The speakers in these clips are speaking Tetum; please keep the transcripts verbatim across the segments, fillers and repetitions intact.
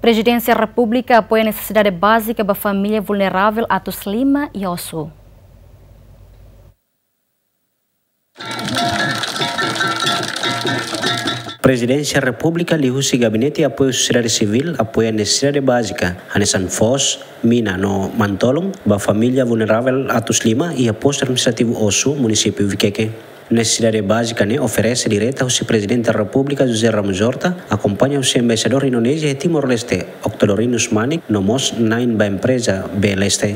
Prezidénsia Repúblika apoia nesesidade bázika ba família vulneravel Atus Lima iha Osu. Prezidénsia Repúblika liuhusi Gabinete Apoiu Sosiedade Sivíl apoia nesesidade bázika, hanesan foos, mina no manu-tolun ba família vulneravel Atus Lima iha Postu Administrativu Osu, Munisípiu Vikeke. Nesesidade bázika ne'e oferese direta husi Prezidente Repúblika José Ramos Horta, akompaña husi Embaixadór Indonézia iha Timor-Leste, Octodorino Manik, no mós na'in ba empreza B L S T.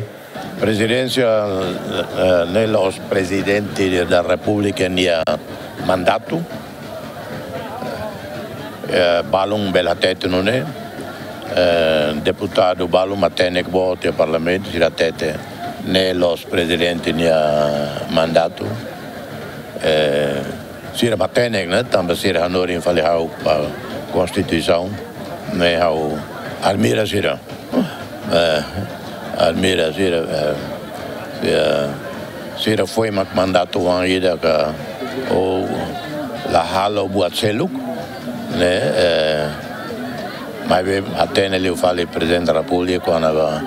Prezidénsia, eh, ne'e la'ós Prezidente da Repúblika nia mandatu. Eh, balun bele hatete nune'e, eh, deputadu balun matenek boot iha Parlamentu sira hatete ne'e la'ós Prezidente nia mandatu. Eh, sira matenek, ne'e, tanba sira hanorin fali ha'u ba Konstituisaun, ne'e ha'u admira sira. Eh, admira sira, eh, sira, sira foin mak mandatu oan ida ka, ou la halo buat seluk, ne'e, eh, maibé hatene liu fali Prezidente Repúblika kona-ba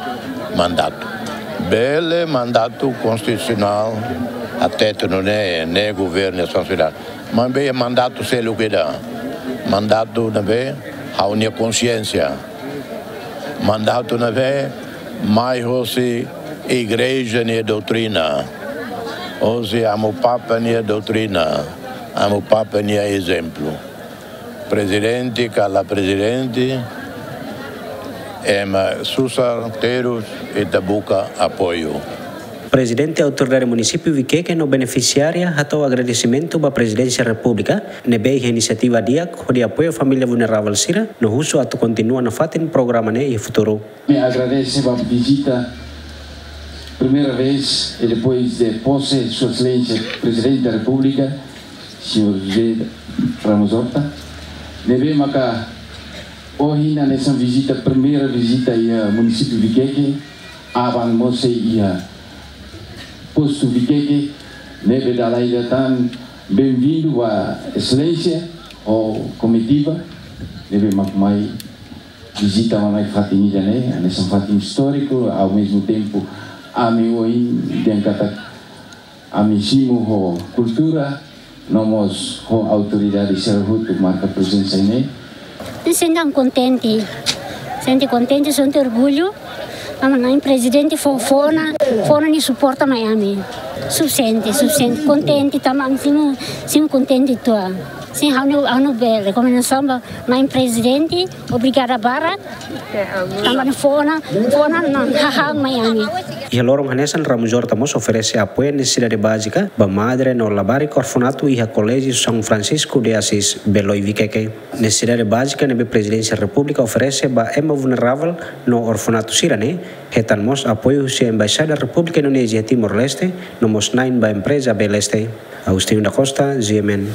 mandatu. Bele mandatu konstitusionál hatete nune'e, ne'e governu iha sosiedade. Maibé mandatu seluk ida. Mandatu ne'ebé ha'u-nia konxiénsia. Mandatu ne'ebé mai hosi Igreja nia doutrina, hosi Amu Papa nia doutrina, Amu Papa nia ezemplu. Prezidente ka la prezidente, ema susar terus ita buka apoiu. Prezidente Autoridade Munisípiu Vikeke no benefisiária hato'o agradesimentu ba Prezidénsia Repúblika ne'ebé iha inisiativa di'ak hodi apoia família vulneravel sira no husu atu kontinua nafatin programa ne'e iha futuru. Ami agradese ba vizita primeira vez e depois de posse Sua Excelência Presidente da República, Senhor José Ramos Horta, ne'ebé maka ohin hanesan vizita, primeira vizita iha Munisípiu Vikeke, aban mós sei iha Postu Vikeke, ne'ebé dala ida tan benvindu ba Exelénsia ho komitiva, ne'ebé mak mai vizita ona iha fatin ida-ne'e, hanesan fatin istóriku, ao mesmo tempo, ami ohin dehan katak ami simu ho kultura, no mós ho autoridade sira hotu marka prezensa iha ne'e. Sente kontente, sente kontente, sente orgullu. Ami-nia prezidente fó, fó ona, fó ona nia suporta mai ami. Sufisiente, sufisiente, kontente, tanba ami simu, simu kontente uitoan. Sin, ha'u-nia, ha'u-nia be rekomendasaun ba ami-nia prezidente, obrigada barak. Tanba nia fó ona, fó ona nia hahán mai ami. Iha loron hanesan Ramos Horta mós oferese apoiu nesesidade bázika ba madre no labarik orfanatu iha Koléjiu São Francisco de Assis, Beloi Vikeke. Nesesidade bázika ne'ebé Prezidénsia Repúblika oferese ba ema vulneravel no orfanatu sira-ne'e, hetan mós apoiu husi Embaixada Repúblika Indonézia Timor-Leste, no mós na'in ba empreza B L S T. Agostinho da Costa, G M N.